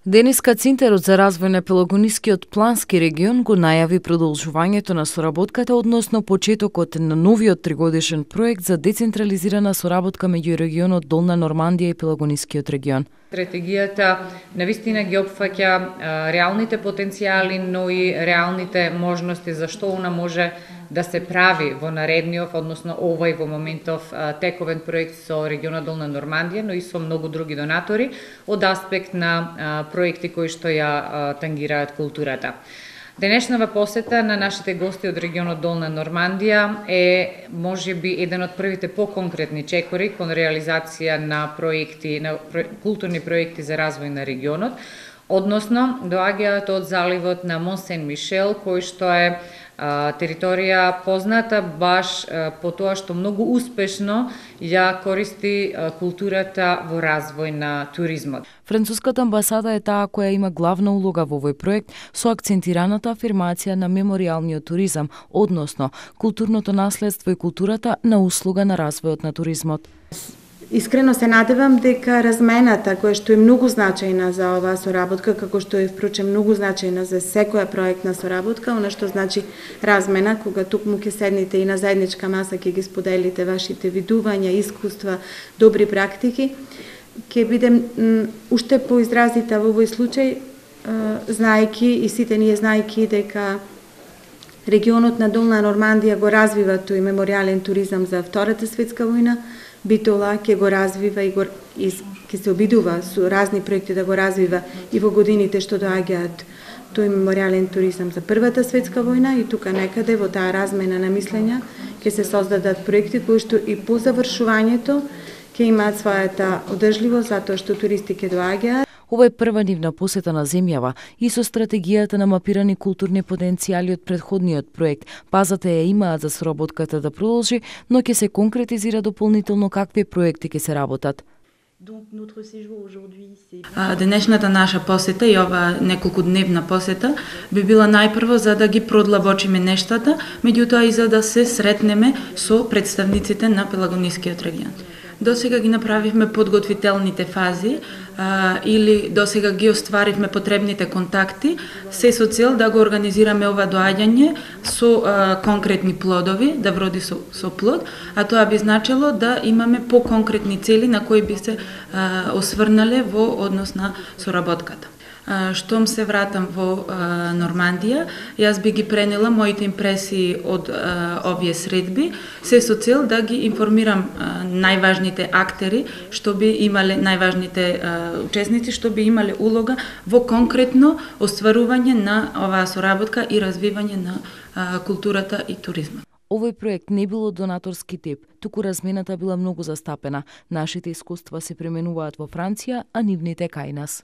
Денеска Центарот за развој на Пелагонискиот плански регион го најави продолжувањето на соработката односно почетокот на новиот тригодишен проект за децентрализирана соработка меѓу регионот Долна Нормандија и Пелагонискиот регион. Стратегијата навистина ги опфаќа реалните потенцијали, но и реалните можности за што она може да се прави во наредниот, односно овој во моментов тековен проект со регионот Долна Нормандија, но и со многу други донатори од аспект на проекти кои што ја тангираат културата. Денешнава посета на нашите гости од регионот Долна Нормандија е можеби еден од првите поконкретни чекори кон реализација на проекти, на културни проекти за развој на регионот, односно доаѓаат од заливот на Мон Сен Мишел, кој што е територија позната баш по тоа што многу успешно ја користи културата во развој на туризмот. Француската амбасада е таа која има главна улога во овој проект со акцентираната афирмација на меморијалниот туризам, односно културното наследство и културата на услуга на развојот на туризмот. Искрено се надевам дека размената, која што е многу значајна за оваа соработка, како што е впрочем многу значајна за секоја проектна соработка, она што значи размена, кога тукму ќе седнете и на заедничка маса ќе ги споделите вашите видувања, искуства, добри практики, ќе биде уште поизразита во овој случај, знаејќи и сите ние знаејќи дека регионот на Долна Нормандија го развива тој меморијален туризам за Втората светска војна, Битола ќе го развива и ќе се обидува со разни проекти да го развива и во годините што доаѓаат тој меморијален туризам за Првата светска војна и тука некаде во таа размена на мислења ќе се создадат проекти кои што и по завршувањето ќе имаат својата одржливост затоа што туристи ќе доаѓаат. Ова е прва нивна посета на земјава и со стратегијата на мапирани културни потенцијали од претходниот проект. Базата ја имаат за соработката да продолжи, но ќе се конкретизира дополнително какви проекти ќе се работат. Денешната наша посета и ова неколкудневна посета би била најпрво за да ги продлабочиме нештата, меѓутоа и за да се сретнеме со представниците на Пелагонискиот регион. Досега ги направивме подготвителните фази или досега ги остваривме потребните контакти, се со цел да го организираме ова доаѓање со конкретни плодови, да вроди со плод, а тоа би значило да имаме поконкретни цели на кои би се осврнале во однос на соработката. Штом се вратам во Нормандија, јас би ги пренела моите импресии од овие средби, се со цел да ги информирам најважните актери, што би имале најважните учесници, што би имале улога во конкретно остварување на оваа соработка и развивање на културата и туризмот. Овој проект не било донаторски тип, туку размената била многу застапена. Нашите искуства се применуваат во Франција, а нивните кај нас.